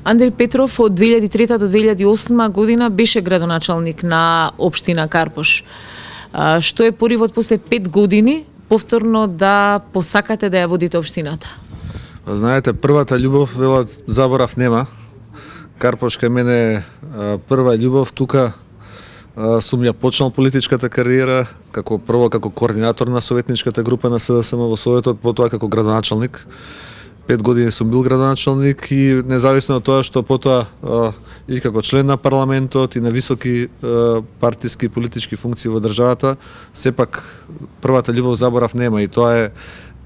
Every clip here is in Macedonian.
Андри Петров од 2003 до 2008 година беше градоначалник на општина Карпош. Што е поривот после 5 години повторно да посакате да ја водите општината? Знаете, првата љубов, велат, заборав нема. Карпош кај мене прва љубов, тука сум ја почнал политичката кариера прво како координатор на советничката група на СДСМ во Советот, потоа како градоначалник. 5 години сум бил градоначалник и независно од тоа што потоа и како член на парламентот и на високи партиски политички функции во државата, сепак првата љубов заборав нема, и тоа е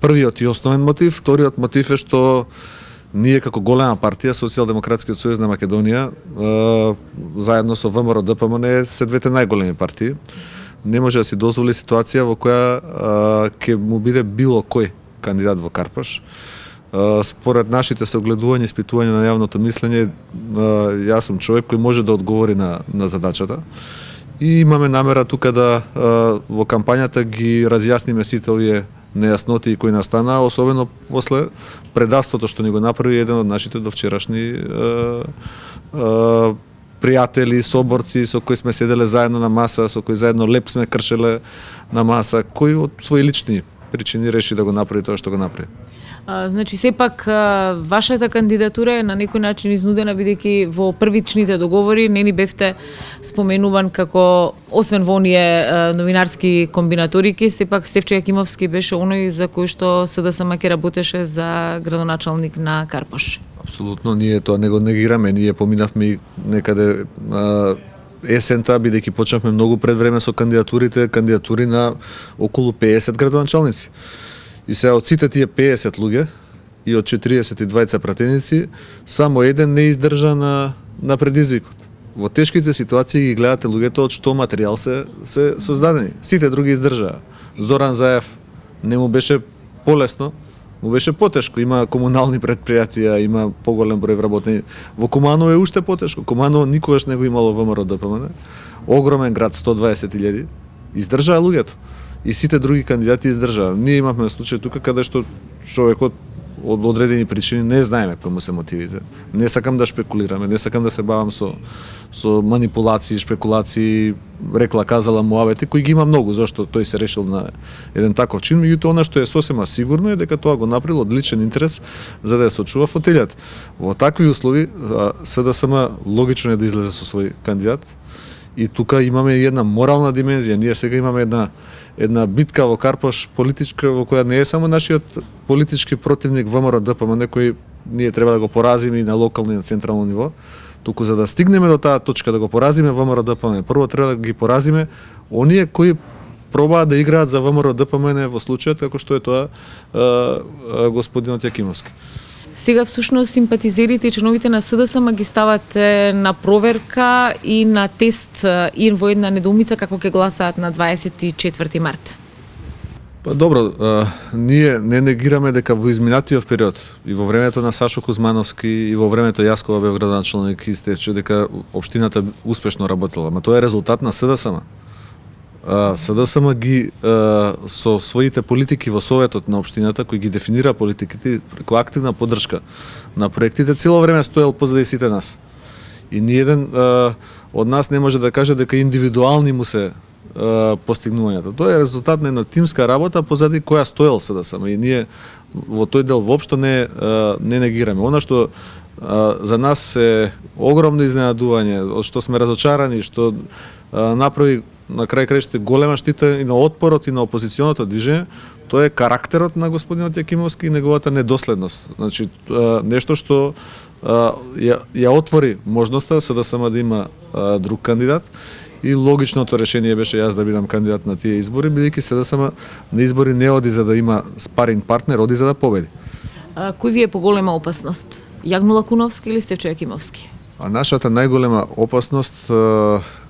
првиот и основен мотив. Вториот мотив е што ние како голема партија, Социјалдемократскиот сојуз на Македонија, заедно со ВМРО ДПМН се двете најголеми партии. Не може да си дозволи ситуација во која ќе му биде било кој кандидат во Карпош. Според нашите согледувања и испитувања на јавното мислење, јас сум човек кој може да одговори на задачата. И имаме намера тука да во кампањата ги разјасниме сите овие нејасноти кои настана, особено после предавството што ни го направи еден од нашите довчерашни пријатели, соборци со кои сме седеле заедно на маса, со кои заедно леп сме кршеле на маса, кој од своји лични причини реши да го направи тоа што го направи. Значи, сепак, вашата кандидатура е на некој начин изнудена, бидејќи во првичните договори не ни бевте споменуван како, освен во оние новинарски комбинаторики, сепак Стефчо Јакимовски беше оној за кој што СДСМ ќе работеше за градоначалник на Карпош. Апсолутно, ние тоа не го негираме, ние поминавме некаде есента, бидејќи почнавме многу пред време со кандидатури на околу 50 градоначалници. И сега од сите тие 50 луѓе и од 42 пратеници, само еден не издржа на предизвикот. Во тешките ситуации ги гледате луѓето од што материјал се создадени. Сите други издржаа. Зоран Заев не му беше полесно, му беше потешко. Има комунални предпријатија, има поголем број вработени. Во Куманово е уште потешко. Куманово никогаш не го имало ВМРО ДПМН. Огромен град, 120.000. Издржаа луѓето. И сите други кандидати издржаа. Ние имавме случај тука каде што човекот од одредени причини не знаеме кои му се мотивите. Не сакам да шпекулираме, не сакам да се бавам со манипулации, шпекулации, рекла казала муавети, кои ги има многу, зашто тој се решил на еден таков чин, меѓутоа она што е сосема сигурно е дека тоа го направил од личен интерес за да ја сочува фотелјата. Во такви услови СДСМ логично е да излезе со свој кандидат, и тука имаме една морална димензија. Ние сега имаме една битка во Карпош политичка, во која не е само нашиот политички противник ВМРО ДПМН, кој ние треба да го поразиме и на локално и на централно ниво, туку за да стигнеме до таа точка да го поразиме ВМРО ДПМН, прво треба да ги поразиме оние кои пробаат да играат за ВМРО ДПМН во случајот како што е тоа господинот Јакимовски. Сега всушност симпатизерите и членовите на СДСМ ги ставате на проверка и на тест и во една недоумица како ќе гласаат на 24 март. Па добро, ние не негираме дека во изминатиот период и во времето на Сашо Кузмановски и во времето јас кога бев градоначалник и Стефчо, дека општината успешно работела, ама тоа е резултат на СДСМ. СДСМ ги со своите политики во Советот на општината, кои ги дефинира политиките преку активна поддршка на проектите, цело време стоел позади сите нас. И ниеден од нас не може да каже дека индивидуални му се постигнувањата. Тоа е резултат на една тимска работа позади која стоел СДСМ, и ние во тој дел воопшто не негираме. Она што за нас е огромно изненадување, од што сме разочарани, што направи на крај крајшите голема штита и на отпорот и на опозиционото движење, тоа е карактерот на господинот Јакимовски и неговата недоследност. Значи, нешто што ја отвори можноста СДСМ да има друг кандидат, и логичното решение беше јас да бидам кандидат на тие избори, бидејќи СДСМ на избори не оди за да има спаринг партнер, оди за да победи. Кој ви е поголема опасност? Јагмил Лакуновски или Стефчо Јакимовски? Нашата најголема опасност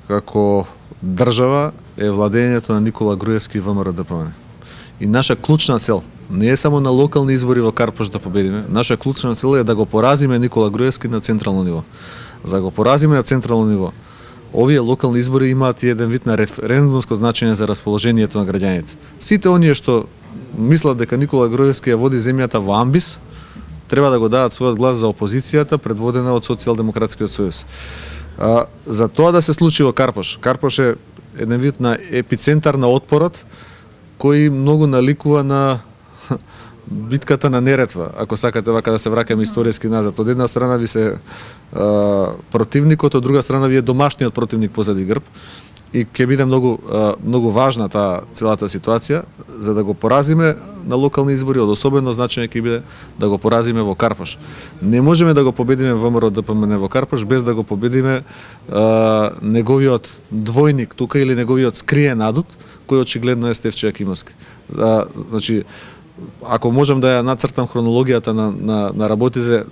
како држава е владењето на Никола Груевски и ВМРО ДПМН. И наша клучна цел не е само на локални избори во Карпош да победиме, наша клучна цел е да го поразиме Никола Груевски на централно ниво. За да го поразиме на централно ниво, овие локални избори имаат и еден вид на референдумско значење за расположението на граѓаните. Сите оние што мислат дека Никола Груевски ја води земјата во амбис, треба да го дадат својот глас за опозицијата, предводена од Социјалдемократскиот сојуз. За тоа да се случи во Карпош. Карпош е еден вид на епицентар на отпорот, кој многу наликува на битката на Неретва, ако сакате вака да се враќаме историски назад. Од една страна ви се противникот, од друга страна ви е домашниот противник позади грб. И ќе биде многу важна таа целата ситуација за да го поразиме на локални избори, од особено значење ќе биде да го поразиме во Карпош. Не можеме да го победиме ВМРО ДПМН во Карпош без да го победиме неговиот двојник тука или неговиот скриен адут, кој очигледно е Стефче Јакимовски. Значи, ако можам да ја нацртам хронологијата на работите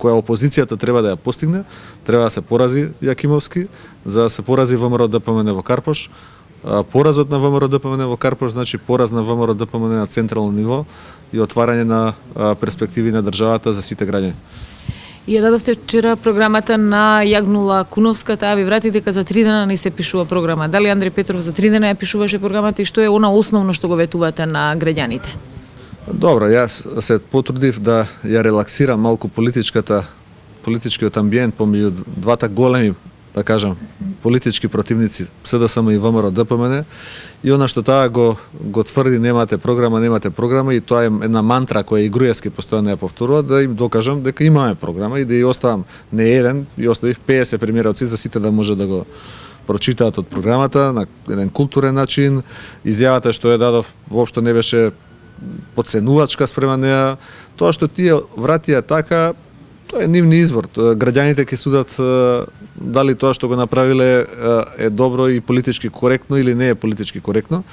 која опозицијата треба да ја постигне, треба да се порази Јакимовски, за да се порази ВМРО ДПМН во Карпош. Поразот на ВМРО ДПМН во Карпош значи пораз на ВМРО ДПМН на централно ниво и отварање на перспективи на државата за сите граѓани. И ја дадовте вчера програмата на Јагнула Куновска, таа ви врати дека за 3 дена не се пишува програма. Дали Андреј Петров за 3 дена ја пишуваше програмата и што е она основно што го ветувате на граѓаните? Добро, јас се потрудив да ја релаксирам малку политичкиот амбиент помеѓу двата големи, да кажам, политички противници СДСМ и ВМРО ДПМН, и она што таа го тврди немате програма и тоа е една мантра која и Груевски постојано ја повторува, да им докажам дека имаме програма и да ја оставам не еден, и оставив 50 примероци за сите да може да го прочитаат од програмата на еден културен начин. Изјавата што ја дадов воопшто не беше подценувачка спрема неа. Тоа што тие вратија така, тоа е нивни избор. Граѓаните ќе судат дали тоа што го направиле е добро и политички коректно или не е политички коректно.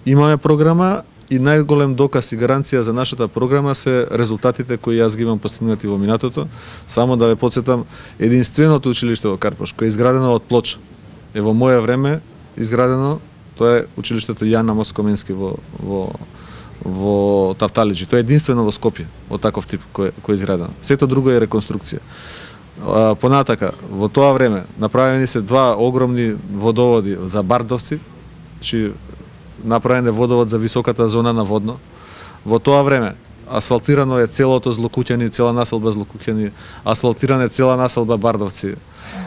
Имаме програма и најголем доказ и гаранција за нашата програма се резултатите кои јас ги имам постигнати во минатото. Само да ве подсетам, единственото училиште во Карпош кој е изградено од плоча е во моје време изградено, тоа е училиштето Јан Амос Коменски во Тафталиџи. Тоа е единствено во Скопје од таков тип кој е изградено. Сето друго е реконструкција. Понатака, во тоа време направени се 2 огромни водоводи за Бардовци, значи направен е водовод за високата зона на Водно. Во тоа време асфалтирано е целото Злокуќани, цела населба Злокуќани, асфалтирана е цела населба Бардовци.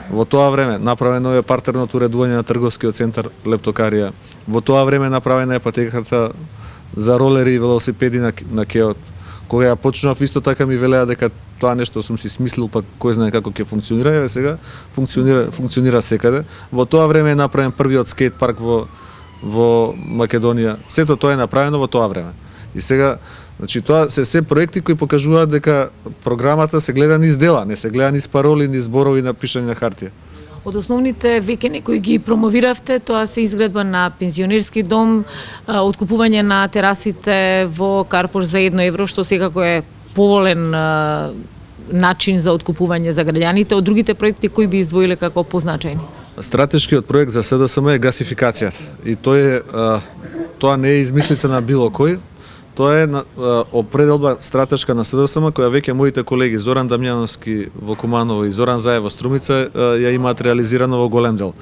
Во тоа време направено е партерното уредување на трговскиот центар Лептокарија. Во тоа време направена е патеката за ролери и велосипеди на Кеот. Кога ја почнав, исто така ми велеа дека тоа нешто сум си смислил, па кој знае како ќе функционира, еве сега функционира секаде. Во тоа време е направен првиот скейт парк во Македонија. Сето тоа е направено во тоа време. И сега, значи тоа се проекти кои покажуваат дека програмата се гледа низ дела, не се гледа низ пароли, низ зборови напишани на хартија. Од основните веќани кои ги промовиравте, тоа се изградба на пензионерски дом, откупување на терасите во Карпош за 1 евро, што секако е поволен начин за откупување за граѓаните. Од другите проекти кои би издвоиле како позначајни? Стратешкиот проект за СДСМ е гасификацијата. И тоа не е измислица на било кој. Тоа е определба стратешка на СДСМ која веќе моите колеги Зоран Дамјановски во Куманово и Зоран Заев во Струмица ја имаат реализирано во голем дел.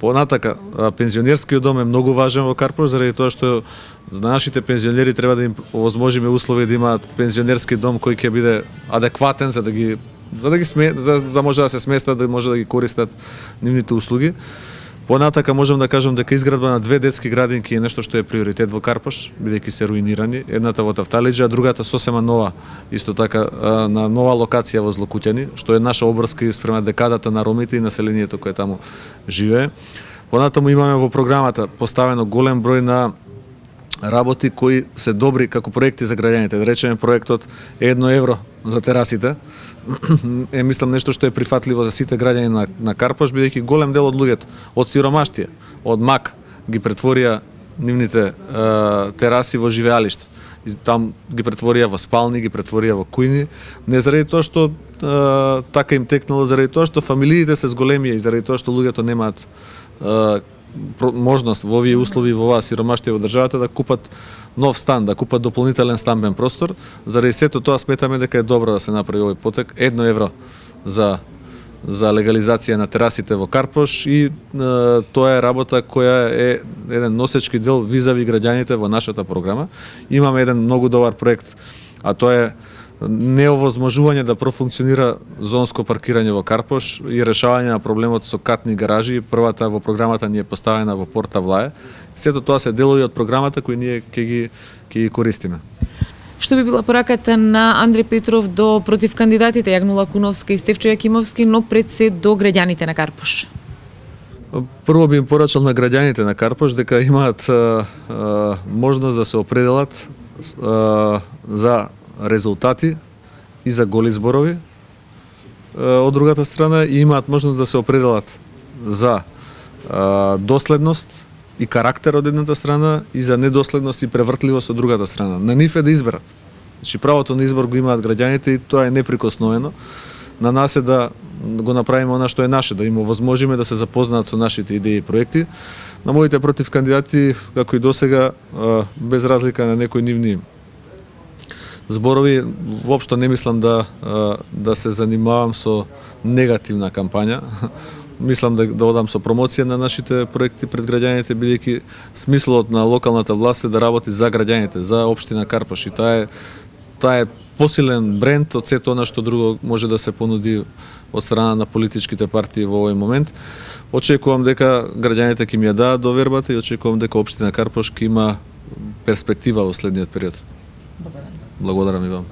Понатака, пензионерскиот дом е многу важен во Карпош заради тоа што за нашите пензионери треба да им овозможиме услови да имаат пензионерски дом кој ќе биде адекватен за да може да се сместат, да може да ги користат нивните услуги. Понатака можам да кажам дека изградба на 2 детски градинки е нешто што е приоритет во Карпош, бидејќи се руинирани, едната во Тафталиџи, а другата сосема нова, исто така на нова локација во Злокуќани, што е наша обврска спрема декадата на ромите и населението кое таму живее. Понатаму имаме во програмата поставено голем број на работи кои се добри како проекти за граѓаните. Да речеме проектот 1 евро за терасите, мислам нешто што е прифатливо за сите граѓани на Карпош, бидејќи голем дел од луѓето од сиромаштија, од мак ги претворија нивните тераси во живеалишта. И там ги претворија во спални, ги претворија во кујни, не заради тоа што така им текнало, заради тоа што фамилиите се зголемија и заради тоа што луѓето немаат можност во овие услови во оваа сиромаштија во државата да купат нов стан, да купат дополнителен станбен простор. Заради сето тоа сметаме дека е добро да се направи овој потек. 1 евро за легализација на терасите во Карпош и тоа е работа која е еден носечки дел визави граѓаните во нашата програма. Имаме еден многу добар проект, а тоа е неовозможување да профункционира зонско паркирање во Карпош и решавање на проблемот со катни гаражи. Првата во програмата ни е поставена во Порта Влае. Сето тоа се делови од програмата кои ние ќе ги користиме. Што би била пораката на Андреј Петров до против кандидатите Јагнула Куновска и Стефчо Јакимовски, но пред се до граѓаните на Карпош? Прво би им порачал на граѓаните на Карпош дека имаат можност да се определат за резултати и за голи зборови. Од другата страна и имаат можност да се определат за доследност и карактер од едната страна и за недоследност и превртливост од другата страна. На нив е да изберат. Значи правото на избор го имаат граѓаните и тоа е неприкосновено. На нас е да го направиме она што е наше, да им овозможиме да се запознаат со нашите идеи и проекти. На моите против кандидати, како и досега, без разлика на некои нивни зборови, воопшто не мислам да се занимавам со негативна кампања. Мислам да одам со промоција на нашите проекти пред граѓаните, бидејќи смислот на локалната власт е да работи за граѓаните, за општина Карпош, и таа е посилен бренд од сето она што друго може да се понуди од страна на политичките партии во овој момент. Очекувам дека граѓаните ќе ми ја дадат довербата и очекувам дека општина Карпош ќе има перспектива во следниот период. Благодарам и вам.